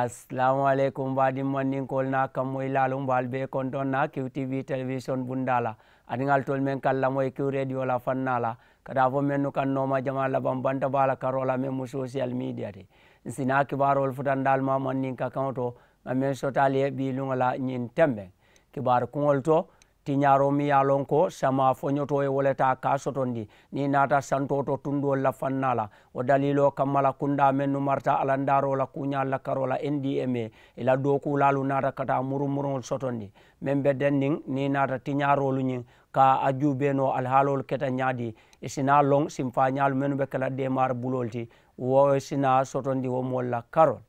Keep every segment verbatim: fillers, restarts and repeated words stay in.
Asalaamu aleykum baadiŋ mandinkoolu naa kammoyilaalu, mbe ali bee kontoŋ na kiw tiibi telewisoŋ bundaa la aniŋ ali toolu meŋ ka ali lamoyi kiw reediyo la fannaa la, ka taa fo mennu kaŋ nooma jamaa labaŋ banta baa la karoo la meŋ mu sosiyal miidiya ti. Ǹ si naa kibaaroolu futandi ali ma mandinka kaŋo to, ŋa meŋ soto ali ye bii luŋo la ñiŋ tembeŋ kibaaru kuŋolu to. Tiñaaroo miŋ ye a loŋ ko samaa foñotoo ye wo le taa ka a sotondi niŋ i naata santoo to tundoolu la fannaa la. Wo daliiloo kamma la kundaa mennu marata alandaaroo la kuuñaalu la karoo la n d m a, i la dookuulaalu naata ka taa murumuruŋolu sotondi meŋ be denniŋ niŋ i naata tiñaaroolu ñiŋ ka a juubee noo alihaaloolu keta ñaadii. I si naa loŋ simfaañaalu mennu be ke la deemaari buloolu ti, wo si naa sotondi wo moolu la karoo la.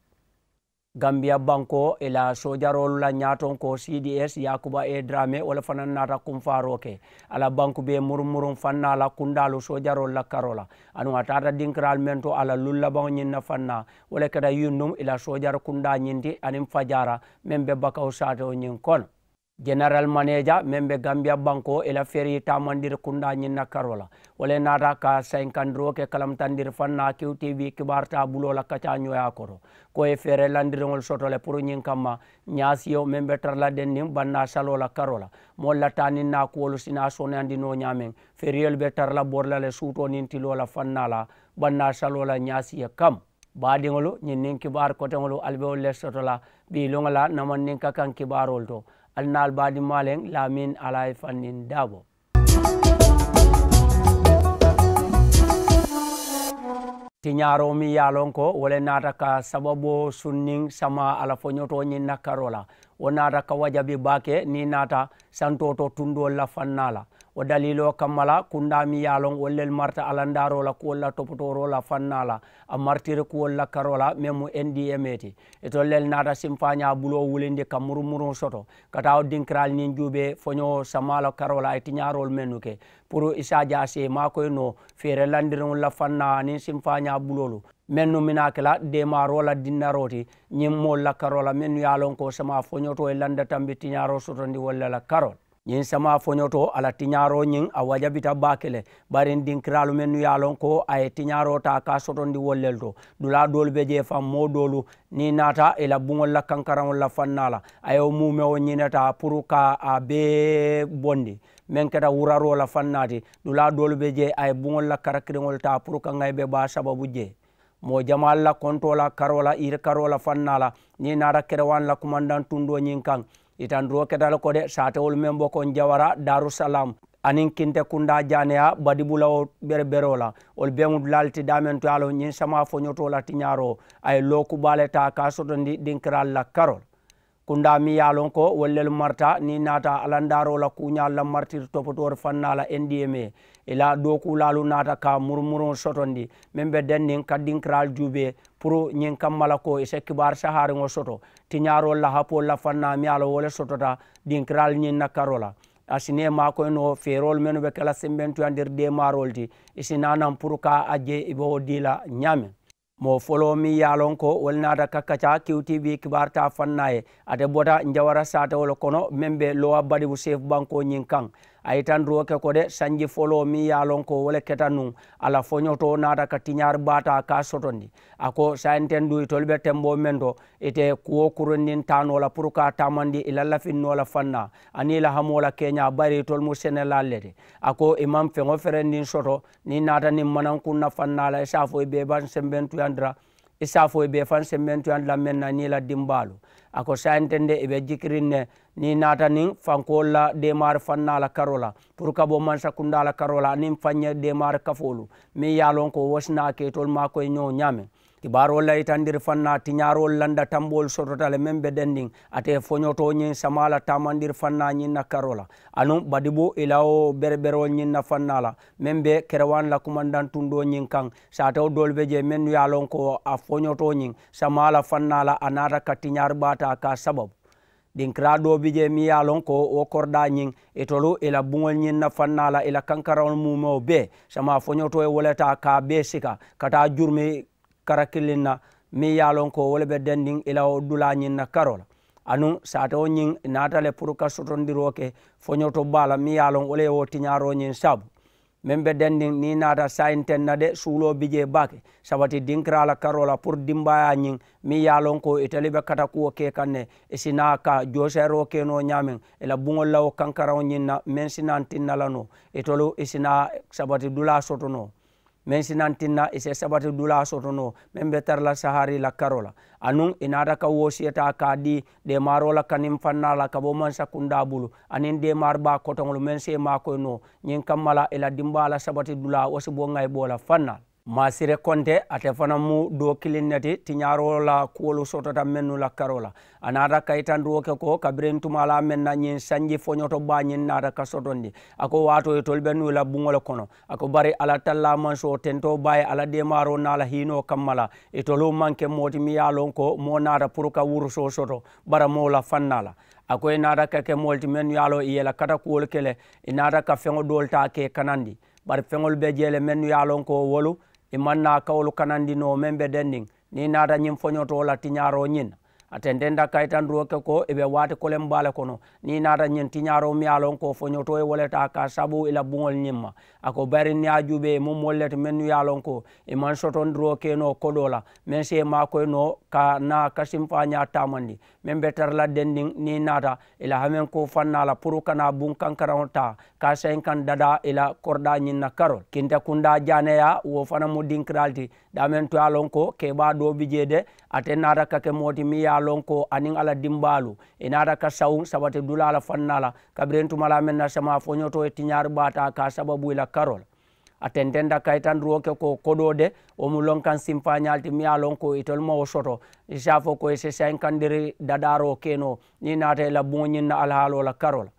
Gambiya bankoo i la soojaroolu la ñaatonkoo c d s yaakuba e daraame wo le fanaŋ naata kunfaaroo ke a la banku bee murumuruŋ fannaa la kundaalu soojaroolu la karoo la. Aduŋ a taata dinkiraalu meŋ to a la luŋ labaŋo ñiŋ na fannaa, wo le keta yundum i la soojari kundaa ñiŋ ti aniŋ fajaara meŋ be bakawu saatewo ñiŋ kono. Jeneral maneeja meŋ be gambiya bankoo i la ferii taamandiri kundaa ñiŋ na karoo la, wo le naata ka sayinkandiroo ke kalamutandiri fannaa kiw tiibi kibaaru taa buloo la kacaañooyaa koto, ko i ye feeree landiriŋolu soto le puru ñiŋ kamma ñaasiyo meŋ be tara la denniŋ bannaa saloo la karoo la. Moolu la taa niŋ naa kuwolu si naa sooneyandi noo ñaameŋ, feriyolu be tara la bori la le suutoo niŋ tiloo la fannaa la bannaa saloo la ñaasiyo kamma. Baadiŋolu, ñiŋ niŋ kibaaru koteŋolu ali be wolu le soto la bii luŋo la namandinka kaŋ kibaaroolu to. Ali naa ali baadimmaa leŋ laamin alaayi fanniŋ daabo. Tiñaaroo miŋ ye a loŋ ko wo le naata ka sababoo sunniŋ samaa a la foñotoo ñiŋ na karoo la, wo naata ka wajabi baake niŋ i naata santoo to tundoolu la fannaa la. Wo daliiloo kamma la kundaa miŋ ye a loŋ wolu lelu marita alandaaroo la kuwolu la topotooroo la fannaa la, a maritiri kuwolu la karoo la meŋ mu n d m a ti. Itolu lelu naata simfaañaa buloo wulindi ka murumuruŋo soto ka taa wo dinkiraalu ñiŋ juubee foñoo samaa la karoo la a ye tiñaaroolu mennu ke puru i se a je a si i maakoyi noo feere landiriŋolu la fannaa aniŋ simfaañaa buloolu mennu minaa ke la deemaaroo la dinnaroo ti ñiŋ moolu la karoo la mennu ye a loŋ ko samaa foñotoo ye landa tambi tiñaaroo sotondi wolu le la karoo la. Ñiŋ samaa foñotoo a la tiñaaroo ñiŋ a wajabita baake le. Bari n dinkiraalu mennu ye a loŋ ko a ye tiñaaroo taa ka a sotondi wolu lelu to, dulaa doolu be jee faŋ moo doolu niŋ i naata i la buŋolu la kankaraŋolu la fannaa la a ye wo muumewo ñinetaa puru ka a bee bondi meŋ keta wuraroo la fannaa ti. Dulaa doolu be jee a ye buŋolu la karakiriŋolu taa puru ka ŋayi be baa sababu jee. Moo jamaalu la kontoo la karoo la yiri karoo la fannaa la niŋ i naata kerewaani la kumandaŋ tundoo ñiŋ kaŋ, i tandiroo keta le ko de saatewolu meŋ bo ko n jawara darusalam aniŋ kinte kundaa jaaneyaa badibulawo bereberoo la. Wolu beŋ dulaalu ti daameŋ to ye a loŋ ñiŋ samaa foñotoo la tiñaaroo a ye looku baa le taa ka a sotondi dinkiraalu la karoo la. Kundaa meŋ ye a loŋ ko wolu lelu marita niŋ i naata alandaaroo la kuuñaalu la maritiri topotoori fannaa la n d m a, i la dookuulaalu naata ka murumuruŋo sotondi meŋ be denniŋ ka dinkiraalu juubee puru ñiŋ kamma la ko i si kibaari sahaariŋo soto tiñaaroolu la hapoolu la fannaa meŋ ye a loŋ wo le sotota dinkiraalu ñiŋ na karoo la. A si nee maakoyi noo feeroolu mennu be ke la sembentuyandiri deemaaroolu ti, i si naa naŋ puru ka a je i be wo dii la ñaameŋ. Moo foloo meŋ ye a loŋ ko wo le naata ka kaccaa kiw t v kibaaru taa fannaa ye, ate bota njawara saatewo le kono meŋ be lowa badibu seefu bankoo ñiŋ kaŋ. A ye itandiroo ke ko de sanji foloo meŋ ye a loŋ ko wo le keta nuŋ, a la foñotoo naata ka tiñaari baa taa ka a sotondi. A ko saayiŋ teŋ duŋ itolu be temboo meŋ to, ite kuwo kurundiŋ taa noo la puru ka a taamandi i la lafiŋ noo la fannaa aniŋ i la hamoo la keeñaa bari itolu mu senelaalu le ti. A ko i maŋ feŋo ferendiŋ soto niŋ i naata niŋ manankuŋ na fannaa la i si a fo i be i baŋ sembentuyandi la i si a fo i be i faŋ sembentuyandi la meŋ na niŋ i la dimbaalu. A ko saayiŋ teŋ de i be jikiriŋ ne niŋ i naata niŋ fankoolu la deemaari fannaa la karoo la puru ka bo mansakundaa la karoo la aniŋ faŋ ye deemaari kafoolu meŋ ye a loŋ ko wo si naa ke itolu maakoyi ñoo ñaameŋ. Kibaaroolu la yitandiri fannaa tiñaaroolu landa tamboolu sotota le meŋ be dendiŋ ate foñotoo ñiŋ samaa la taamandiri fannaa ñiŋ na karoo la anuŋ badibu i la wo bereberoolu ñiŋ na fannaa la meŋ be kerewaani la kumandaŋ tundoo ñiŋ kaŋ. Saatewo doolu be jee mennu ye a loŋ ko a foñotoo ñiŋ samaa la fannaa la a naata ka tiñaari baa taa ka a sababu. Dinkiraa doo bi jee meŋ ye a loŋ ko wo koridaa ñiŋ itolu i la buŋolu ñiŋ na fannaa la i la kankaraŋolu muumewo bee samaa foñotoo ye wo le taa ka a bee sika ka taa jurumi kara kiliŋ na meŋ ye a loŋ ko wo le be dendiŋ i la wo dulaa ñiŋ na karoo la. Anuŋ saatewo ñiŋ i naata le puru ka sotondiroo ke foñoto baa la meŋ ye a loŋ wo le ye wo tiñaaroo ñiŋ saabu. Meŋ be dendiŋ niŋ i naata saayiŋ teŋ na de suuloo bi jee baake sabati dinkiraa la karoo la puru dimbaayaa ñiŋ meŋ ye a loŋ ko itelu be katakuwo ke kaŋ ne i si naa ka jooseeroo ke noo ñaameŋ i la buŋolu la wo kankaraŋo ñiŋ na meŋ si naa tinna la noo itolu i si naa sabati dulaa soto noo meŋ si naa tinna i si sabati dulaa soto noo meŋ be tara la saharii la karoo la anuŋ i naata ka woosiyetaa ka a dii deemaaroo la kaniŋ fannaa la ka bo mansa kundaa bulu aniŋ deemaari baa kotoŋolu meŋ si i maakoyi noo ñiŋ kamma la i la dimbaa la sabati dulaa wo si bo ŋayiboo la fannaa la maasire konte ate fanaŋ mu doo kiliŋ ne ti tiñaaroo la kuwolu sotota mennu la karoo la a naata kayitandiroo ke ko kabiriŋ tumaa la meŋ na ñiŋ sanji foñoto baa ñiŋ naata ka sotondi a ko waatoo itolu be nuu la buŋo le kono a ko bari alla tallaa mansoo tentoo baa ye alla deemaaroo naa la hiinoo kamma la itolu maŋ ke moo ti miŋ ye a loŋ ko moo naata puru ka wurusoo soto baramoo la fannaa la a ko i naata ka ke moolu ti mennu ye a loŋ i ye i la katakuwolu ke le i naata ka feŋo doolu taa ka i kanandi bari feŋolu be jee le mennu ye a loŋ ko wolu i maŋ naa kawolu kanandi noo meŋ be dendiŋ niŋ i naata ñiŋ foñotoo la tiñaaroo ñiŋ na a tententa kayitandiroo ke ko i be waati koleŋ baa le kono niŋ i naata ñiŋ tiñaaroo miŋ ye a loŋ ko foñotoo ye wo le taa ka a sabu i la buŋolu ñiŋ ma a ko bayiri niŋ i ye a juubee i mu moolu le ti mennu ye a loŋ ko i maŋ sotondiroo ke noo kodoo la meŋ si i maakoyi noo ka naa kasimfaañaa taamandi meŋ be tara la dendiŋ niŋ i naata i la hamenkoo fannaa la puru kana buŋ kankaraŋo taa ka a sayinkaŋ dadaa i la koridaa ñiŋ na karoo la kintakundaa jaaneyaa wo fanaŋ mu dinkiraalu ti daameŋ to ye a loŋ ko keebaa doo bi jee de ate naata ka ke moo ti meŋ ye a loŋ ko aniŋ a la dimbaalu i naata ka sawuŋ sabati dulaa la fannaa la kabiriŋ tumalaa meŋ na samaa foñotoo ye tiñaari baa taa ka a sababu i la karoo la a tententa kayitandiroo ke ko kodoo de wo mu lonkaŋ simfaañaalu ti meŋ ye a loŋ ko itolu maŋ wo soto i si a fo ko i si sayinkandiri dadaaroo ke noo niŋ i naata i la buŋo ñiŋ na alihaaloo la karoo la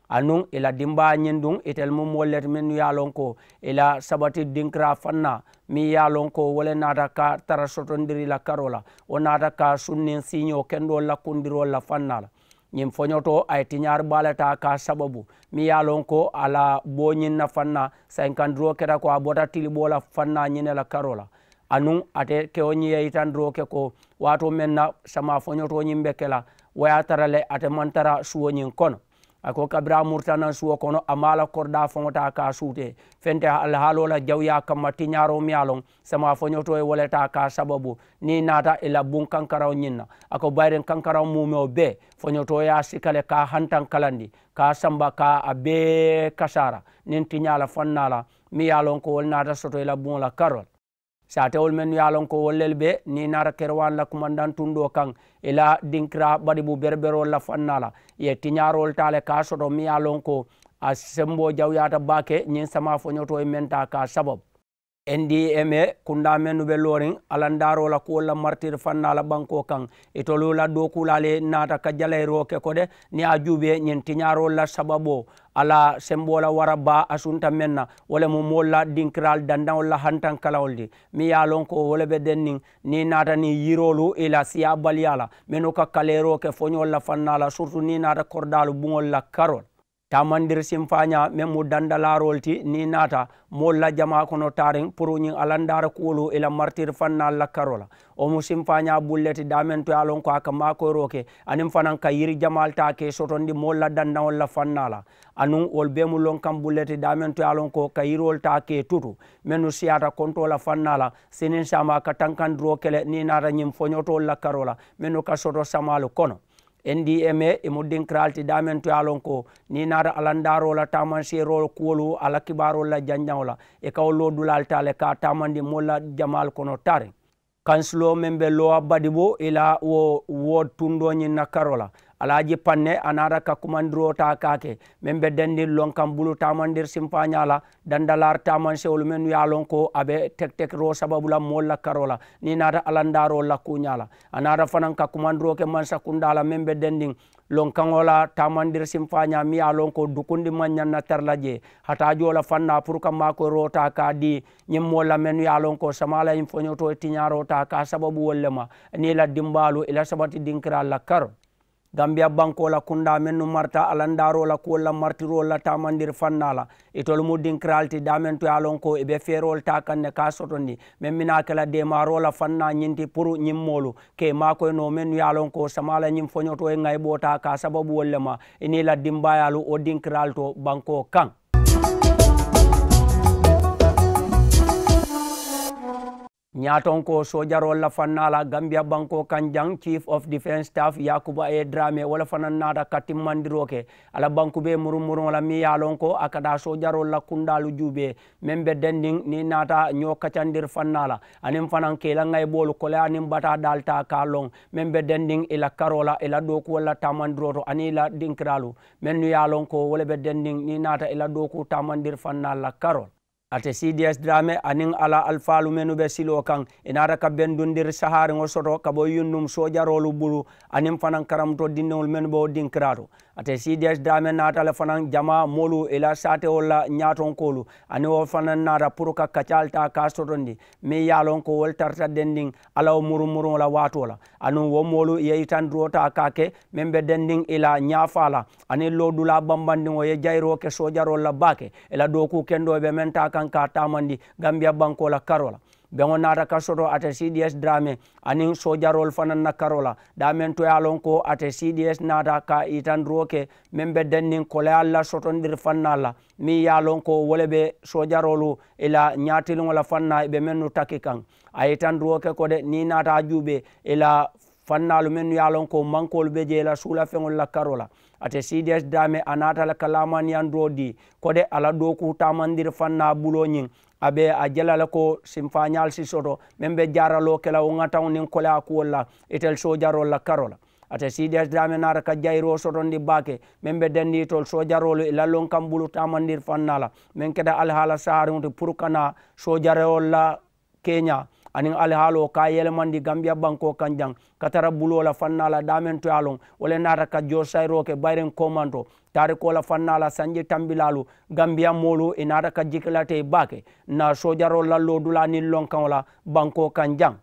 anuŋ i la dimbaa ñiŋ duŋ itelu mu moolu le ti mennu ye a loŋ ko i la sabati dinkiraa fannaa meŋ ye a loŋ ko wo le naata ka tara sotondiri i la karoo la wo naata ka sunniŋ siiñoo kendoolu la kundiroolu la fannaa la ñiŋ foñotoo a ye tiñaari baa le taa ka a sababu meŋ ye a loŋ ko a la boo ñiŋ na fannaa sayinkandiroo keta ko a bota tiliboo la fannaa ñiŋ ne la karoo la anuŋ ate kewo ñiŋ ye yitandiroo ke ko waatoo meŋ na samaa foñotoo ñiŋ be ke la wo ye a tara le ate maŋ tara suwo ñiŋ kono a ko kabiriŋ a murita naŋ suwo kono a maŋ a la koridaa faŋo taa ka a suutee fente alihaaloo la jawuyaa kamma tiñaaroo meŋ ye a loŋ samaa foñotoo ye wo le taa ka a sababu niŋ i naata i la buŋ kankaraŋo ñiŋ na a ko bayiriŋ kankaraŋo muumewo bee foñotoo ye a sika le ka a hantaŋ kalandi ka a samba ka a bee kasaara niŋ tiñaa la fannaa la meŋ ye a loŋ ko wolu naata soto i la buŋo la karoo la saatewolu mennu ye a loŋ ko wolu lelu be niŋ i naata kerewaani la kumandaŋ tundoo kaŋ i la dinkiraa badibu bereberoolu la fannaa la i ye tiñaaroolu taa le ka a soto meŋ ye a loŋ ko a semboo jawuyaata baake ñiŋ samaa foñotoo ye meŋ taa ka a sababu n d m a kundaa mennu be looriŋ alandaaroo la kuwolu la maritiri fannaa la bankoo kaŋ itolu la dookuulaalu ye naata ka jalayiroo ke ko de niŋ ye a juubee ñiŋ tiñaaroolu la sababoo a la semboo la wara baa a sunta meŋ na wo le mu moolu la dinkiraalu dandaŋolu la hantankalaŋolu ti meŋ ye a loŋ ko wo le be denniŋ niŋ i naata niŋ yiroolu i la siyaabaliyaa la mennu ka kaleeroo ke foñoolu la fannaa la siritu niŋ i naata koridaalu buŋolu la karoo la taamandiri simfaañaa meŋ mu dandalaaroolu ti niŋ i naata moolu la jamaa kono taariŋ puru ñiŋ alandaara kuwolu i la maritiri fannaalu la karoo la wo mu simfaañaa bulu le ti daameŋ to ye a loŋ ko a ka maakoyiroo ke aniŋ fanaŋ ka yiri jamaalu taa ka i sotondi moolu la dandaŋolu la fannaa la anuŋ wolu bee mu lonkaŋ bulu le ti daameŋ to ye a loŋ ko ka yiriwolu taa ka i tutu mennu siyaata kontoo la fannaa la siniŋ saamaa ka tankandiroo ke le niŋ i naata ñiŋ foñotoolu la karoo la mennu ka soto samaalu kono n d m a i mu dinkiraalu ti daameŋ to ye a loŋ ko niŋ i naata alandaaroo la taamanseeroo kuwolu a la kibaaroolu la janjaŋo la i ka wo loo dulaalu taa le ka a taamandi moolu la jamaalu kono taariŋ kansiloo meŋ be loowa badibo i la wo wo tundoo ñiŋ na karoo la alaaji panne a naata ka kumandiroo taa ka a ke meŋ be dendiŋ lonkaŋ bulu taamandiri simfaañaa la dandalaari taamansewolu mennu ye a loŋ ko a be tekitekiroo sababu la moolu la karoo la niŋ i naata alandaaroo la kuuñaa la a naata fanaŋ ka kumandiroo ke mansakundaa la meŋ be dendiŋ lonkaŋo la taamandiri simfaañaa miŋ ye a loŋ ko dukundi maŋ ñaŋ na tara la jee hataajoo la fannaa puru ka maakoyiroo taa ka a dii ñiŋ moolu la mennu ye a loŋ ko samaa la ñiŋ foñotoo ye tiñaaroo taa ka a sababu wolu le ma niŋ i la dimbaalu i la sabati dinkiraalu la karoo gambiya bankoo la kundaa mennu marita alandaaroo la kuwolu la maritiroolu la taamandiri fannaa la itolu mu dinkiraalu ti daameŋ to ye a loŋ ko i be feeroolu taa kaŋ ne ka a sotondi meŋ bi naa ke la deemaaroo la fannaa ñiŋ ti puru ñiŋ moolu ka i maakoyi noo mennu ye a loŋ ko samaa la ñiŋ foñotoo ye ŋayiboo taa ka a sababu wolu le ma i niŋ i la dimbaayaalu wo dinkiraalu to bankoo kaŋ Ñaatonkoo soojaroolu la fannaa la gambiya bankoo kaŋ jaŋ, chief of defence staff yaakuba a ye draame wo le fanaŋ naata ka timmandiroo ke a la banku bee murumuriŋo la meŋ ye a loŋ ko a ka taa soojaroolu la kundaalu juubee meŋ be dendiŋ niŋ i naata ñoo kacandiri fannaa la, aniŋ fanaŋ ka i la ŋayiboolu koleyaa niŋ bataa daalu taa ka a loŋ meŋ be dendiŋ i la karoo la i la dookuwolu la taamandiroo to aniŋ i la dinkiraalu mennu ye a loŋ ko wo le be dendiŋ niŋ i naata i la dookuu taamandiri fannaalu la karoo la. Ate cds draame aniŋ a la alifaalu mennu be siloo kaŋ, i naata ka bendundiri sahaariŋo soto ka bo yunnum soojaroolu bulu aniŋ fanaŋ karamuto dindiŋolu mennu be wo dinkiraato. Ate cds draame naata le fanaŋ jamaa moolu i la saatewolu la ñaatonkoolu aniŋ wo fanaŋ naata puru ka kacaalu taa ka a sotondi meŋ ye a loŋ ko wolu tarata dendiŋ a la wo murumuriŋo la waatoo la, anuŋ wo moolu ye yitandiroo taa ka a ke meŋ be dendiŋ i la ñaafaa la aniŋ loodulaa bambandiŋo ye jayiroo ke soojaroolu la baake. I la dookuu kendoo be meŋ taa kaŋ ka a taamandi gambiya bankoo la karoo la. Beŋo naata ka soto ate cds draame aniŋ soojaroolu fanaŋ na karoo la daameŋ to ye a loŋ ko ate cds naata ka yitandiroo ke meŋ be denniŋ koleyaalu la sotondiri fannaalu la meŋ ye a loŋ ko wo le be soojaroolu i la ñaatiliŋo la fannaa i be mennu taki kaŋ. A ye yitandiroo ke ko de niŋ i naata a juubee i la fannaalu mennu ye a loŋ ko mankoolu be jee la suulafeŋolu la karoo la. Ate cds draame a naata le ka laamaniyandiroo dii ko de a la dookuu taamandiri fannaa buloo ñiŋ a be a je la le ko simfaañaalu si soto meŋ be jaaraloo ke la wo ŋataŋo niŋ koleyaa kuwolu la itelu soojaroolu la karoo la. Ate cds draame naata ka jayiroo sotondi baake meŋ be dendiŋ itolu soojaroolu i la lonkaŋ bulu taamandiri fannaa la meŋ keta alihaala sahaariŋo ti puru ka naa soojaroolu la keeñaa aniŋ alihaaloo ka a yelemandi gambiya bankoo kaŋ jaŋ ka tara buloo la fannaa la daameŋ to ye a loŋ wo le naata ka joosayiroo ke bayiriŋ koomanto taarikoo la fannaa la sanji tambilaalu gambiya moolu i naata ka jikilate baake na soojaroolu la loodulaa niŋ lonkaŋo la bankoo kaŋ jaŋ.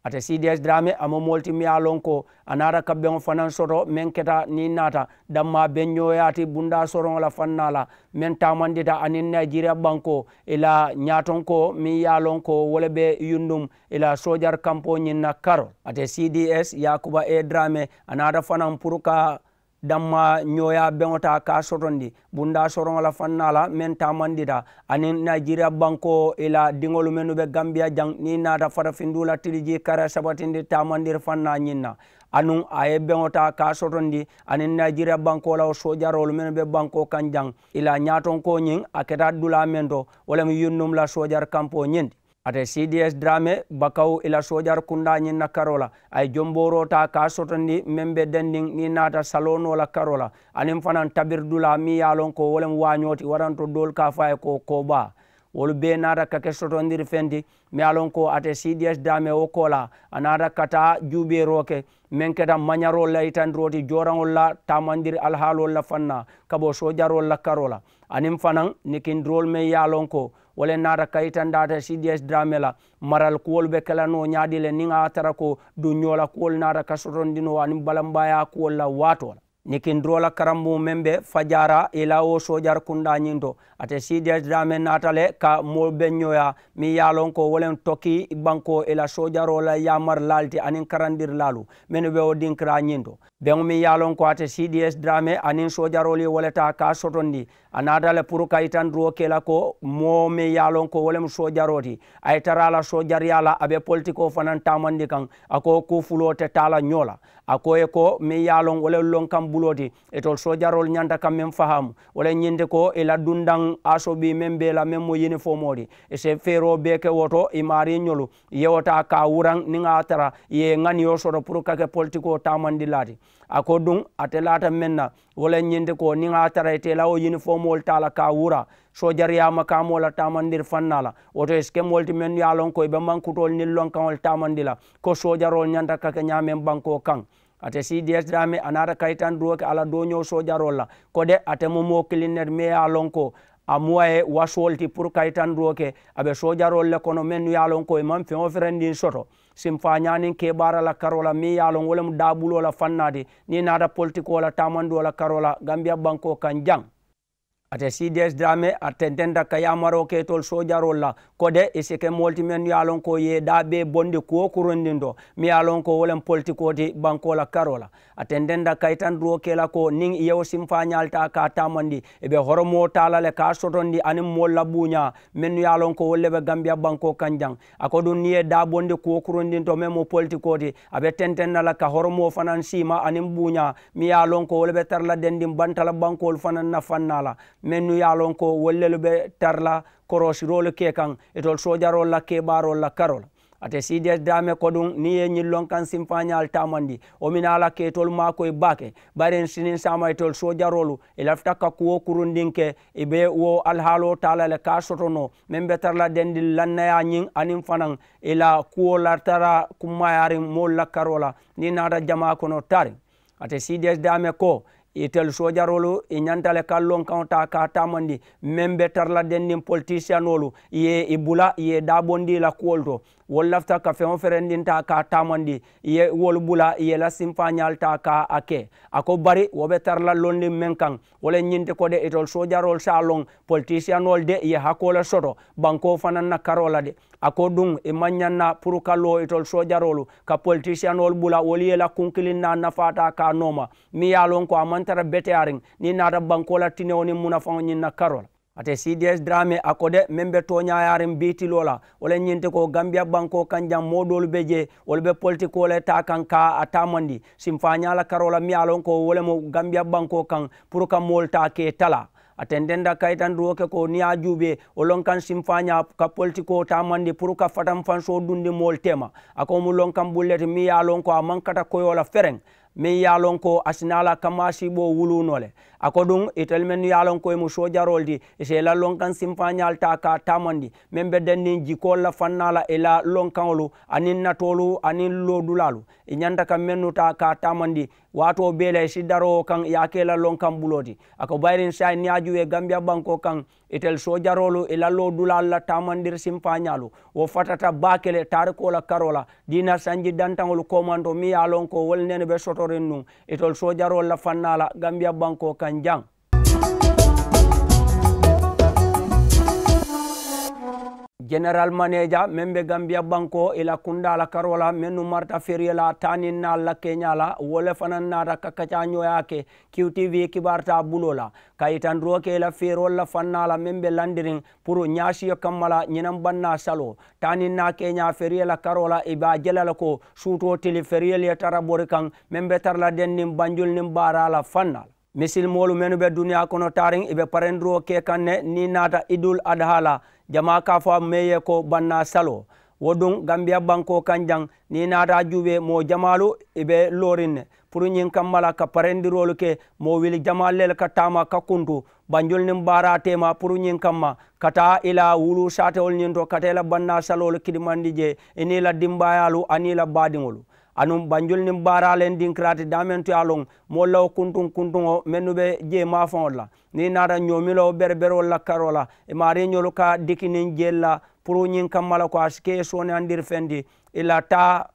Ate cds draame a mu moolu ti meŋ ye a loŋ ko a naata ka beŋo fanaŋ soto meŋ keta niŋ naata dammaa beŋ ñooyaa ti bundaa soroŋo la fannaa la meŋ taamandita aniŋ nayijeriya bankoo i la ñaatonkoo meŋ ye a loŋ ko wo le be yundum i la soojari kampoo ñiŋ na karoo. Ate cds yaakuba e draame a naata fanaŋ puru ka dammaa ñooyaa beŋo taa ka a sotondi bundaa soroŋo la fannaa la meŋ taamandita aniŋ nayijeriya bankoo i la diŋolu mennu be gambiya jaŋ niŋ i naata farafinduu la tilijii kara sabatindi taamandiri fannaa ñiŋ na. Anuŋ a ye beŋo taa ka a sotondi aniŋ nayijeriya bankoo la wo soojaroolu mennu be bankoo kaŋ jaŋ i la ñaatonkoo ñiŋ a keta dulaa meŋ to wo le mu yunnum la soojari kampoo ñiŋ ti. Ate cds draame bakawu i la soojari kundaa ñiŋ na karoo la a ye jombooroo taa ka a sotondi meŋ be dendiŋ niŋ i naata saloo noo la karoo la aniŋ fanaŋ tabiri dulaa meŋ ye a loŋ ko wo le mu waañoo ti waranto doolu ka a fo a ye ko koobaa. Wolu bee naata ka ke sotondiri feŋ ti meŋ ye a loŋ ko ate cds draame wo koolaa a naata ka taa juubeeroo ke meŋ keta mañaroolu la yitandiroo ti jooraŋolu la taamandiri alihaaloolu la fannaa ka bo soojaroolu la karoo la aniŋ fanaŋ nikindiroolu meŋ ye a loŋ ko wo le naata ka yitandi ate cds draame la marali kuwolu be ke la noo ñaadii le niŋ a ye a tara ko duŋ ñoo la kuwolu naata ka sotondi noo aniŋ balambaayaa kuwolu la waatoo la. Nikindiroo la karambuŋo meŋ be fajaara i la wo soojari kundaa ñiŋ to ate cds draame naata le ka moolu be ñooyaa meŋ ye a loŋ ko wo le mu tokii bankoo i la soojaroo la yaamarilaalu ti aniŋ karandirilaalu mennu be wo dinkiraa ñiŋ to. Beŋo meŋ ye a loŋ ko ate cds draame aniŋ soojaroolu ye wo le taa ka a sotondi a naata le puru ka yitandiroo ke i la ko moo meŋ ye a loŋ ko wo le mu soojaroo ti a ye tara a la soojariyaa la a be politikoo fanaŋ taamandi kaŋ a ko kuu fuloo te taa la ñoo la. A ko i ye ko meŋ ye a loŋ wo le lonkaŋ buloo ti itolu soojaroolu ñanta ka meŋ fahaamu wo le ñiŋ ti ko i la dundaŋ asobii meŋ be i la meŋ mu yinifoomoo ti i si feeroo bee ke wo to i maariiñolu i ye wo taa ka a wuraŋ niŋ a ye a tara i ye i ŋaniyo soto puru ka ke politikoo taamandilaa ti. A ko duŋ ate laata meŋ na wo le ñiŋ ti ko niŋ a ye a tara ite i la wo yinifoomoolu taa la ka a wura soojariyaa makaamoo la taamandiri fannaa la wo to i si ke moolu ti mennu ye a loŋ ko i be mankutoolu niŋ lonkaŋolu taamandi la ko soojaroolu ñanta ka ke ñaameŋ bankoo kaŋ. Ate cds draame a naata ka yitandiroo ke a la dooñoo soojaroolu la ko de ate mu moo kiliŋ ne ti meŋ ye a loŋ ko a mu a ye wasuwolu ti puru ka yitandiroo ke a be soojaroolu le kono mennu ye a loŋ ko i maŋ feŋ wo ferendiŋ soto simfaañaa niŋ keebaara la karoo la meŋ ye a loŋ wo le mu daabuloo la fannaa ti niŋ i naata politikoo la taamandiŋo la karoo la gambiya bankoo kaŋ jaŋ. Ate cds drame a tententa ka yaamaroo ke itolu soojaroolu la, ko de i si ke moolu ti mennu ye a loŋ ko i ye i daa bee bondi kuwo kurundiŋ to, miŋ ye a loŋ ko wo le mu politikoo ti bankoo la karoo la. A tententa ka yitandiroo ke i la ko niŋ i ye wo sinfaañaalu taa ka a taamandi, i be horomoo taa la le ka a sotondi aniŋ moolu la buuñaa mennu ye a loŋ ko wolu le be gambiya bankoo kaŋ jaŋ. A ko duŋ niŋ i ye i daa bondi kuwo kurundiŋ to meŋ mu politikoo ti, a be tenteŋ na la ka horomoo fanaŋ siima aniŋ buuñaa miŋ ye a loŋ ko wo le be tara la dendiŋ bantala bankoolu fanaŋ na fannaa la, mennu ye a loŋ ko wolu lelu be tara la koroosiroolu ke kaŋ itolu soojaroolu la kebaaroolu la karoo la. Ate cds daame koduŋ niŋ i ye ñiŋ loŋ kaŋ sinfaañaalu taamandi, wo minaa la ka itolu maakoyi baake. Bayiriŋ siniŋ saama itolu soojaroolu i lafita ka kuwo kurundiŋ ke, i be wo alihaaloo taa la le ka a soto noo meŋ be tara la dendiŋ lannayaa ñiŋ aniŋ fanaŋ i la kuwo la tara kummaayaariŋ moolu la karoo la niŋ i naata jamaa kono taariŋ. Ate cds daame ko itelu soojaroolu i ñanta le ka lonkaŋo taa ka a taamandi meŋ be tara la dendiŋ politisiyanoolu i ye i bula i ye i daabondi i la kuwolu to. Wolu lafita ka feŋ wo ferendiŋ taa ka a taamandi i ye wolu bula i ye i la sinfaañaalu taa ka a ke. A ko bari wo be tara la londiŋ meŋ kaŋ wo le ñiŋ ti ko de itolu soojaroolu si a loŋ politisiyanoolu de i ye hakoo le soto bankoo fanaŋ na karoo la de. A ko duŋ i maŋ ñaŋ na puru ka loo itolu soojaroolu ka politisiyanoolu bula wolu ye i la kunkiliŋ naa nafaa taa ka a nooma, meŋ ye a loŋ ko a maŋ tara beteyaariŋ niŋ i naata bankoo la tinewo niŋ munafaŋo ñiŋ na karoo la. Ate cds drame a ko de meŋ be tooñaayaariŋ bii tiloo la wo le ñiŋ ti ko gambiya bankoo kaŋ jaŋ moo doolu be jee wolu be politikoo le taa kaŋ ka a taamandi sinfaañaa la karoo la meŋ ye a loŋ ko wo le mu gambiya bankoo kaŋ puru ka moolu taa ke talaa. A tententa kayitandiroo ke ko niŋ i ye a juubee wo loŋ kaŋ sinfaañaa ka politikoo taamandi puru ka fatanfansoo dundi moolu teema. A ko wo mu loŋ kaŋ bulu le ti meŋ ye a loŋ ko a maŋ kata koyoo la fereŋ meŋ ye a loŋ ko a si naa la kamaasiiboo wuluu noo le. A ko duŋ itelu mennu ye a loŋ ko i mu soojaroolu ti i si i la loŋ kaŋ sinfaañaalu taa ka a taamandi meŋ be denniŋ jikoolu la fannaa la i la loŋ kaŋolu aniŋ natoolu aniŋ loodulaalu i ñanta ka mennu taa ka a taamandi waatoo bee la i si daroo wo kaŋ i ye a ke i la loŋ kaŋ buloo ti. A ko bayiriŋ saayiŋ niŋ i ye a juubee gambiya bankoo kaŋ itelu soojaroolu i la loodulaalu la taamandiri sinfaañaalu wo fatata baake le taarikoo la karoo la diina sanji dantaŋolu koomantoo meŋ ye a loŋ ko wo le nene be sotoriŋ nuŋ itolu soojaroolu la fannaa la gambiya bankoo kaŋ jaŋ. Jeneral maneeja meŋ be gambiya bankoo i la kundaa la karoo la mennu marita feriye la taa niŋ naalu la keeñaa la wo le fanaŋ naata ka kacaañooyaa ke. Q T V kibaaritaa buloo la ka yitandiroo ke i la feeroolu la fannaa la meŋ be landiriŋ puru ñaasiyo kamma la ñinaŋ bannaa saloo taa niŋ naa keeñaa feriye la karoo la i be a je la le ko suutoo tili feriyelu ye tara bori kaŋ meŋ be tara la denniŋ banjulu niŋ baaraa la fannaa la. Misilimoolu mennu be duniyaa kono taariŋ i be parendiroo ke kaŋ ne niŋ i naata idul adaha la jamaa ka a fo a mee ye ko bannaa saloo. Wo duŋ gambiya bankoo kaŋ jaŋ niŋ i naata a juubee moo jamaalu i be looriŋ ne puru ñiŋ kamma la ka parendiroolu ke moo wili jamaalu le ka taama ka kuntu banjulu niŋ baaraa teema puru ñiŋ kamma ka taa i la wuluu saatewolu ñiŋ to ka taa i la bannaa saloolu kidimandi jee i niŋ i la dimbaayaalu aniŋ i la baadiŋolu. Anuŋ banjulu niŋ baaraa le ndinkiraati daameŋ to ye a loŋ moolu la wo kuntuŋ kuntuŋo mennu be jee maafaŋolu la niŋ i naata ñoomilowo bereberoolu la karoo la i maariiñolu ka diki niŋ jeelu la puru ñiŋ kamma la ko a si ke ye sooneyandiri feŋ ti i la taa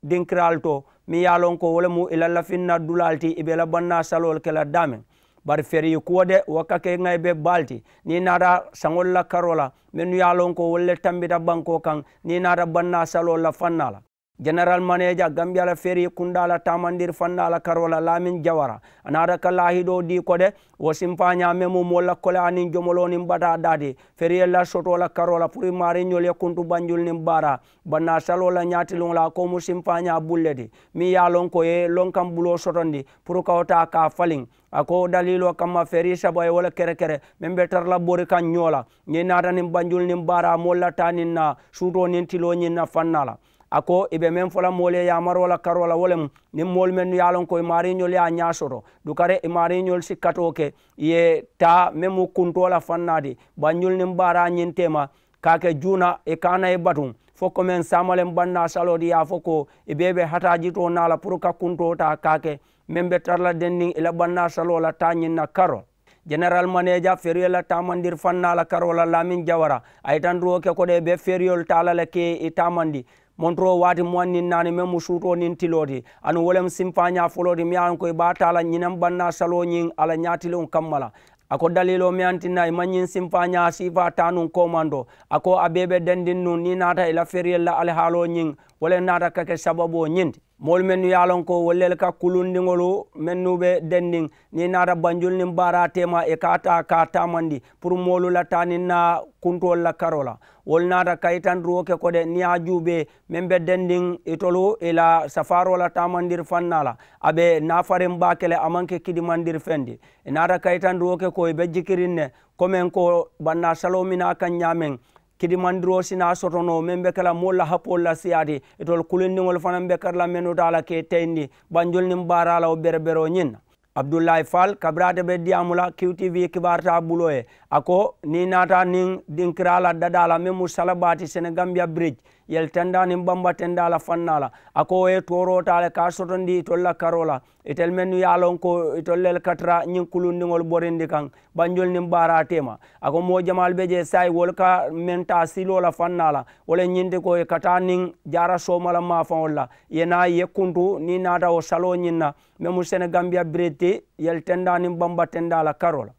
dinkiraalu to meŋ ye a loŋ ko wo le mu i la lafinna dulaalu ti i be i la bannaa saloolu ke la daameŋ. Bari feriyi kuwo de wo ka ke ŋa i be baalu ti niŋ i naata saŋolu la karoo la mennu ye a loŋ ko wolu le tambita bankoo kaŋ niŋ i naata bannaa saloolu la fannaa la. Jeneral maneeja gambiya la feriyi kundaa la taamandiri fannaa la karoo la laamin jawara a naata ka laahidoo dii ko de wo sinfaañaa meŋ mu moolu la koleyaa niŋ jomoloo niŋ bataa daa ti feriyelu la sotoo la karoo la puru i maariiñolu ye kuntu banjulu niŋ baaraa bannaa saloo la ñaatiliŋo la a ko mu sinfaañaa bulu le ti meŋ ye a loŋ ko i ye lonkaŋ buloo sotondi puru ka wo taa ka a faliŋ. A ko daliiloo kamma ferii saba ye wo le kerekere meŋ be tara la bori kaŋ ñoo la niŋ i naata niŋ banjulu niŋ baaraa moolu la taa niŋ naa suutoo niŋ tiloo ñiŋ na fannaa la. A ko i be meŋ fo la moolu ye yaamaroo la karoo la wo le mu niŋ moolu mennu ye a loŋ ko i maariiñolu ye a ñaa soto dukare i maariiñolu si katoo ke i ye taa meŋ mu kuntoo la fannaa ti banjulu niŋ baaraa ñiŋ teema ka a ke juuna i ka a na i batuŋ fo komeŋ saamaleŋ bannaa saloo ti ye a fo ko i bee be hataajitoo naa la puru ka kuntoo taa ka a ke meŋ be tara la denniŋ i la bannaa saloo la taa ñiŋ na karoo. Jeneral maneeja feriye la taamandiri fannaa la karoo la laamin jawara a yitandiroo ke ko de i be feriyolu taa la le ke i taamandi montoroo waati muwaŋ niŋ naani meŋ mu suutoo niŋ tiloo ti anuŋ wo le mu sinfaañaa foloo ti miŋ ye a loŋ ko i be a taa la ñinaŋ bannaa saloo ñiŋ a la ñaatiliŋo kamma la. A ko daliiloo meŋ ye a tinna i maŋ ñiŋ sinfaañaa siifaa taa nuŋ koomanto, a ko a bee be dendiŋ nuŋ niŋ i naata i la feriyelu la alihaaloo ñiŋ, wo le naata ka ke sababoo ñiŋ ti. Moolu mennu ye a loŋ ko wolu le ka kulundiŋolu mennu be dendiŋ niŋ i naata banjulu niŋ baaraa teema i ka a taa ka a taamandi puru moolu la taa niŋ naa kuntoolu la karoo la. Wolu naata kayitandiroo ke ko de niŋ i ye a juubee meŋ be dendiŋ itolu i la safaaroo la taamandiri fannaa la, a be naafariŋ baake le a maŋ ke kidimandiri feŋ ti. I naata kayitandiroo ke ko i be jikiriŋ ne komeŋ ko bannaa saloo minaa kaŋ ñaameŋ kidimandiroo si naa soto noo meŋ be ke la moolu la hapoolu la siyaati. Itolu kulundiŋolu fanaŋ be kari la mennu taa la ka i teyindi banjulu niŋ baaraa la wo bereberoo ñiŋ na. Abdullahi fal kabiriŋ ate be diyaamu la kiw tivi kibaaru taa buloo ye, a ko niŋ i naata niŋ dinkiraa la dadaa la meŋ mu salabaa ti senegambiya biriji yeli tendaa niŋ bamba tendaa la fannaa la, a ko wo ye tooroo taa le ka a sotondi itolu la karoo la. Itelu mennu ye a loŋ ko itolu le ka tara ñiŋ kulundiŋolu borindi kaŋ banjulu niŋ baaraa teema. A ko moo jamaalu be jee saayiŋ wolu ka meŋ taa siloo la fannaa la wo le ñiŋ ti ko i ka taa niŋ jaara sooma la maafaŋolu la i ye naa i ye kuntu niŋ i naata wo saloo ñiŋ na meŋ mu senegambiya biriji ti yeli tendaa niŋ bamba tendaa la karoo la.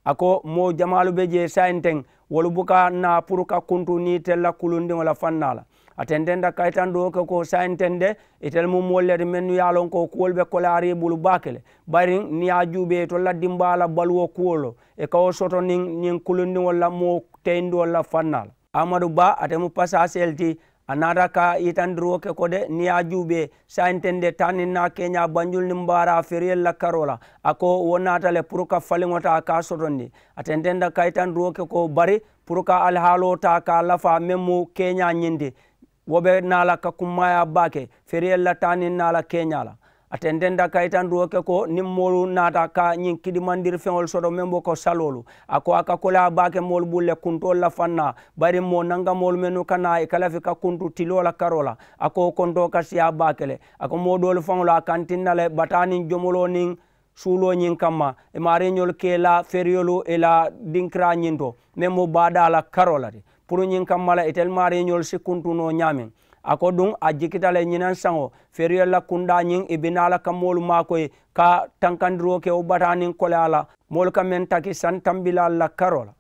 A ko moo jamaalu be jee saayiŋ teŋ wolu buka naa puru ka kuntu niŋ itelu la kulundiŋo la fannaa la. A tententa kayitandiroo ke ko saayiŋ teŋ de itelu mu moolu le ti mennu ye a loŋ ko kuwolu be koleyaariŋ i bulu baake le. Bari niŋ i ye a juubee itolu la dimbaa la baluwo kuwo lo i ka wo soto niŋ ñiŋ kulundiŋolu la moo teyindiwolu la fannaa la. Amadu ba ate mu pasaasee le ti. A naata ka yitandiroo ke ko de niŋ i ye a juubee saayiŋ teŋ de taa niŋ naa keeñaa banjulu niŋ baaraa feriyelu la karoo la. A ko wo naata le puru ka faliŋo taa ka a sotondi. A tententa ka yitandiroo ke ko bari puru ka alihaaloo taa ka a lafaa meŋ mu keeñaa ñiŋ ti. Wo be naa la ka kummaayaa baake feriyelu la taa niŋ naa la keeñaa la. A tententa kayitandiroo ke ko niŋ moolu naata ka ñiŋ kidimandiri feŋolu soto meŋ be ko saloolu, a ko a ka koleyaa baake moolu bulu le kuntoolu la fannaa. Bari moo nankamoolu mennu ka naa i ka lafi ka kuntu tiloo la karoo la, a ko wo kontoo ka siyaa baake le. A ko moo doolu faŋolu a ka ntinna le bataa niŋ jomoloo niŋ suuloo ñiŋ kamma i maariiñolu ka i la feriyolu i la dinkiraa ñiŋ to meŋ mu baadaa la karoo la ti. Puru ñiŋ kamma la itelu maariiñolu si kuntu noo ñaameŋ. A ko duŋ a jikita le ñinaŋ saŋo feriyolu la kundaa ñiŋ i bi naa la ka moolu maakoyi ka tankandiroo ke wo bataa niŋ koleyaa la moolu ka meŋ taki santambilaalu la karoo la.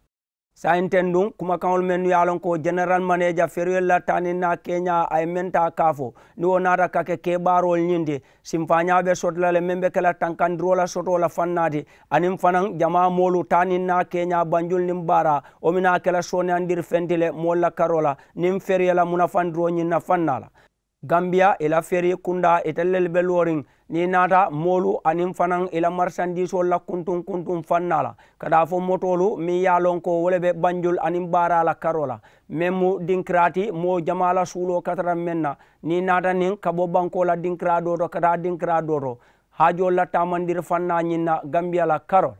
Saayiŋ teŋ duŋ kumakaŋolu mennu ye a loŋ ko jeneral maneeja feriyolu la taa niŋ naa keeñaa a ye meŋ taa ka a fo niŋ wo naata ka ke kebaaroolu ñiŋ ti. Sinfaañaa be soto la le meŋ be ke la tankandiroo la sotoo la fannaa ti aniŋ fanaŋ jamaa moolu taa niŋ naa keeñaa banjulu niŋ baaraa wo mi naa ke la sooneyandiri feŋ ti le moolu la karoo la niŋ feriye la munafandiroo ñiŋ na fannaa la. Gambiya i la ferii kundaa itelu lelu be looriŋ niŋ i naata moolu aniŋ fanaŋ i la marisandiisoolu la kuntuŋ kuntuŋ fannaa la ka taa fo motoolu meŋ ye a loŋ ko wo le be banjulu aniŋ baaraa la karoo la. Meŋ mu dinkiraa ti moo jamaa la suuloo ka tara meŋ na niŋ i naata niŋ ka bo bankoo la dinkiraa doo to ka taa dinkiraa doo to. Haajoolu la taamandiri fannaa ñiŋ na gambiya la karoo la.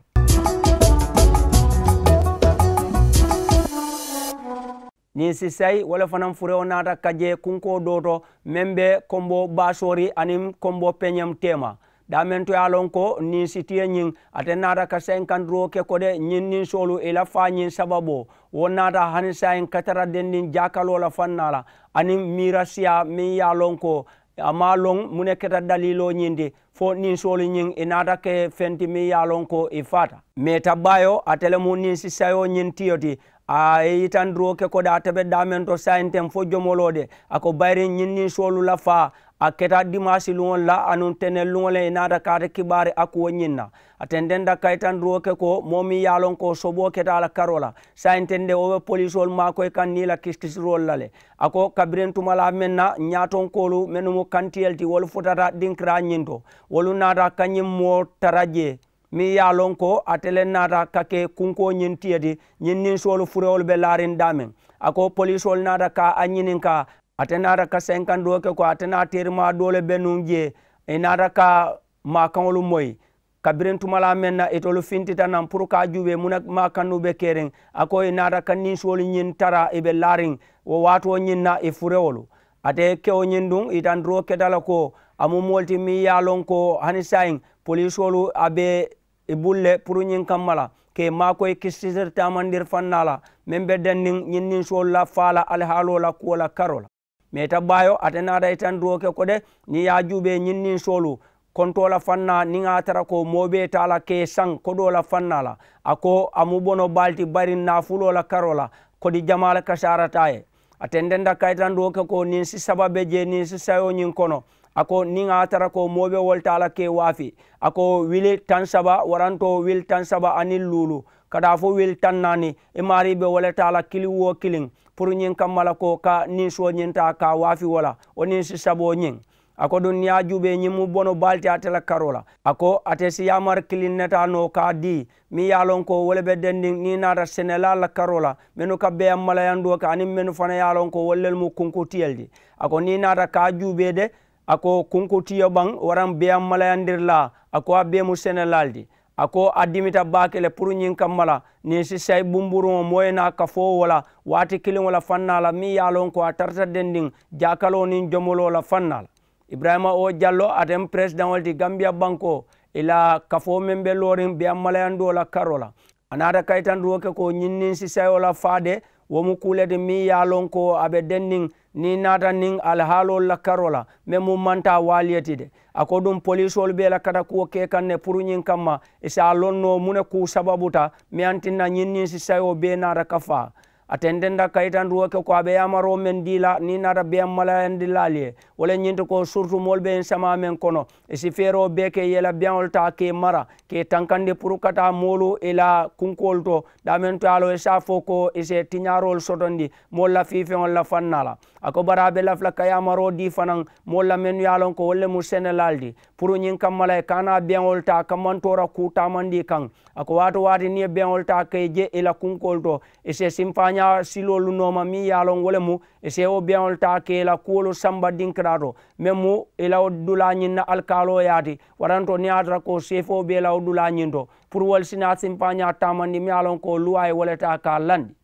Niŋ sisayi wo le fanaŋ furewo naata ka je kunkoo doo to meŋ be konbo baasoori aniŋ konbo peñem teema. Daameŋ to ye a loŋ ko niŋ sitiye ñiŋ ate naata ka senkandiroo ke ko de ñiŋ niŋ soolu i la faa ñiŋ sababoo wo naata hani saayiŋ ka tara dendiŋ jaakaloo la fannaa la aniŋ miira siyaa meŋ ye a loŋ ko a maŋ a loŋ muŋ ne keta daliiloo ñiŋ ti. Fo niŋ soolu ñiŋ i naata ke feŋ ti meŋ ye a loŋ ko i faata. Meeta baayoo ate le mu niŋ sisayoo ñiŋ tiyo ti. A ye yitandiroo ke ko de ate be daameŋ to saayiŋ teŋ fo jomoloo de a ko bayiriŋ ñiŋ niŋ soolu la faa a keta dimaasi luŋo le la anuŋ teneŋ luŋo le i naata ka ate kibaari a kuwo ñiŋ na. A tententa kayitandiroo ke ko moo meŋ ye a loŋ ko soboo keta a la karoo la saayiŋ teŋ de wo be poliisoolu maakoyi kaŋ niŋ i la kisitiroolu la le. A ko kabiriŋ tumalaa meŋ na ñaatonkoolu mennu mu kantiyelu ti wolu futata dinkiraa ñiŋ to. Wolu naata ka ñiŋ moo tara jee meŋ ye a loŋ ko ate le naata ka ke kunkoo ñiŋ tiye ti. Ñiŋ niŋ soolu furewolu be laariŋ daameŋ a ko poliisoolu naata ka a ñininkaa. Ate naata ka senkandoo ke ko ate naa teerimaa doo le be nuŋ jee i naata ka maakaŋolu moyi. Kabiriŋ tumalaa meŋ na itolu fintita naŋ puru ka a juubee muŋ ne maakannuu be keriŋ a ko i naata ka ninsoolu ñiŋ tara i be laariŋ wo waatoo ñiŋ na i furewolu. Ate kewo ñiŋ duŋ yitandiroo keta le ko a mu moolu ti meŋ ye a loŋ ko hani saayiŋ poliisoolu a be i bulu le puru ñiŋ kamma la ka i maakoyi kisisiri taamandiri fannaa la meŋ be denniŋ ñiŋ ninsoolu la faa la alihaaloo la kuwo la karoo la. Meeta baayo ate naata yitandiroo ke ko de niŋ i ye a juubee ñiŋ ninsoolu kontoo la faŋ na niŋ a ye a tara ko moo be taa la ka i saŋ kodoo la faŋ na la. A ko a mu bono baa le ti bari naafuloo la karoo la kodi jamaa le kasaarata a ye. A tententa kayitandiroo ke ko niŋ si saba be jee niŋ si sayoo ñiŋ kono. A ko niŋ a ye a tara ko moo be wo le taa la ka i waafi, a ko wili taŋ saba warantoo wili taŋ saba aniŋ luulu ka daa fo wili taŋ naani, i maarii be wo le taa la kiliŋ woo kiliŋ puru ñiŋ kamma la ko ka ninsoo ñiŋ taa ka a waafi wo la wo niŋ si saboo ñiŋ. A ko duŋ niŋ i ye a juubee ñiŋ mu bono baa le ti ate la karoo la. A ko ate si yaamari kiliŋ ne taa noo ka a dii meŋ ye a loŋ ko wo le be dendiŋ niŋ i naata senelaa la karoo la mennu ka beeyaŋ malayandoo ke aniŋ mennu fanaŋ ye a loŋ ko wolu lelu mu kunkutiyo le ti. A ko niŋ i naata ka a juubee de, a ko kunkutiyo baŋ waraŋ beeyaŋ malayandirilaa, a ko a bee mu senelaa le ti. A ko a dimita baake le puru ñiŋ kamma la niŋ si sayi bumburuŋo moo ye naa kafoo wo la waati kiliŋo la faŋ naa la meŋ ye a loŋ ko a tarata dendiŋ jaakaloo niŋ jomoloo la faŋ naa la. Iburayima o jallo ate mu peresidaŋo le ti gambiya bankoo i la kafoo meŋ be looriŋ beeyaŋ malayandoo la karoo la. A naata kayitandiroo ke ko ñiŋ niŋ si sayoo la faa de wo mu kuu le ti meŋ ye a loŋ ko a be denniŋ niŋ i naata niŋ alihaaloolu la karoo la meŋ mu mantaa waaliyo ti de. A ko duŋ poliisoolu be i la katakuwo ke kaŋ ne puru ñiŋ kamma i si a loŋ noo muŋ ne kuu sababuta meŋ ye a tinna ñiŋ niŋ si sayoo bee naata ka faa. A tententa kayitandiroo ke ko a be yaamaroo meŋ dii la niŋ i naata beeyaŋ malayandilaalu ye wo le ñiŋ ti ko surutu moolu be ñiŋ samaa meŋ kono i si feeroo bee ke i ye i la beeyaŋolu taa ka i mara ka i tankandi puru ka taa moolu i la kunkoolu to daameŋ to ye a loŋ i si a fo ko i si i tiñaaroolu sotondi moolu la fiifeŋolu la faŋ naa la. A ko bari a be lafi la ka yaamaroo dii fanaŋ moolu la mennu ye a loŋ ko wolu le mu senelaalu ti puru ñiŋ kamma la i ka a naa beeyaŋolu taa kammantoora kuu taamandi i kaŋ. A ko waati waati niŋ i ye beeyaŋolu taa ka i je i la kunkoolu to i si i simpaañaa siloolu nooma meŋ ye a loŋ wo le mu i si i wo beeyaŋolu taa ka i la kuwolu samba dinkiraa to meŋ mu i la wo dulaa ñiŋ na alikaaloo yaati. Waranto niŋ a ye a tara ko seefoo be i la wo dulaa ñiŋ to puru wolu si naa simpaañaa taamandi meŋ ye a loŋ ko luwaa ye wo le taa ka a landi.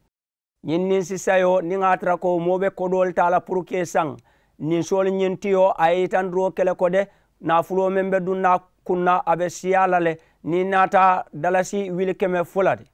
Ñiŋ niŋ si sayoo niŋ a ye a tara ko moo be kodoolu taa la puru ka i saŋ ninsoolu ñiŋ tiyo a ye yitandiroo ke le ko de naafuloo meŋ be duŋ naa kuŋ na a be siyaa la le niŋ i naata dalasi wili keme fula ti.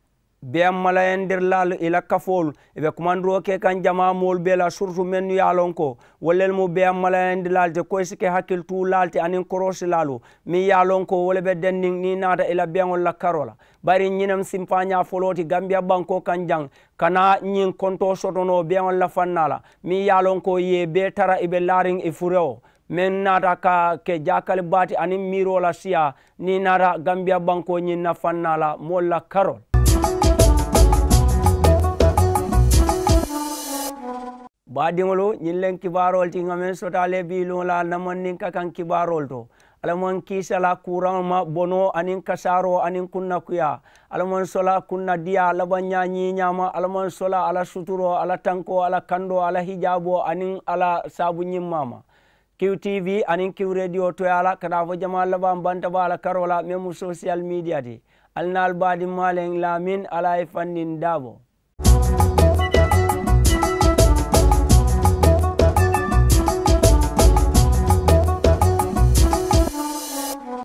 Beeyaŋ malayandirilaalu i la kafoolu i be kumandiroo ke kaŋ jamaa moolu bee la surutu mennu ye a loŋ ko wolu lelu mu beeyaŋ malayandilaalu ti ko i si ke hakilituulaalu ti aniŋ koroosilaalu meŋ ye a loŋ ko wo le be denniŋ niŋ i naata i la beeyaŋolu la karoo la. Bari ñiŋ ne mu simpaañaa foloo ti gambiya bankoo kaŋ jaŋ ka naa ñiŋ kontoo soto noo beeyaŋolu la faŋ naa la meŋ ye a loŋ ko i ye i bee tara i be laariŋ i furewo meŋ naata ka ke jaakali baa ti aniŋ miiroo la siyaa niŋ i naata gambiya bankoo ñiŋ na faŋ naa la moolu la karoo la. Baadiŋolu ñiŋ leŋ kibaaroolu ti ŋa meŋ sotaa le bii luŋo la namandinka kaŋ kibaaroolu to. Alla maŋ kiisa la kuuraŋo ma bonoo aniŋ kasaaroo aniŋ kunnakuyaa. Alla maŋ sola kunnadiyaa labaŋ ñaa ñiiñaa ma. Alla maŋ sola a la suturoo a la tankoo a la kandoo a la hijaaboo aniŋ a la saabu ñimmaa ma. Kiw tv aniŋ kiw rediyo toyaa la ka taa fo jamaa labaŋ banta baa la karoo la meŋ mu sosiyal miidiya ti. Ali naalu baadimmaa leŋ laamin alla ye i fanniŋ daabo.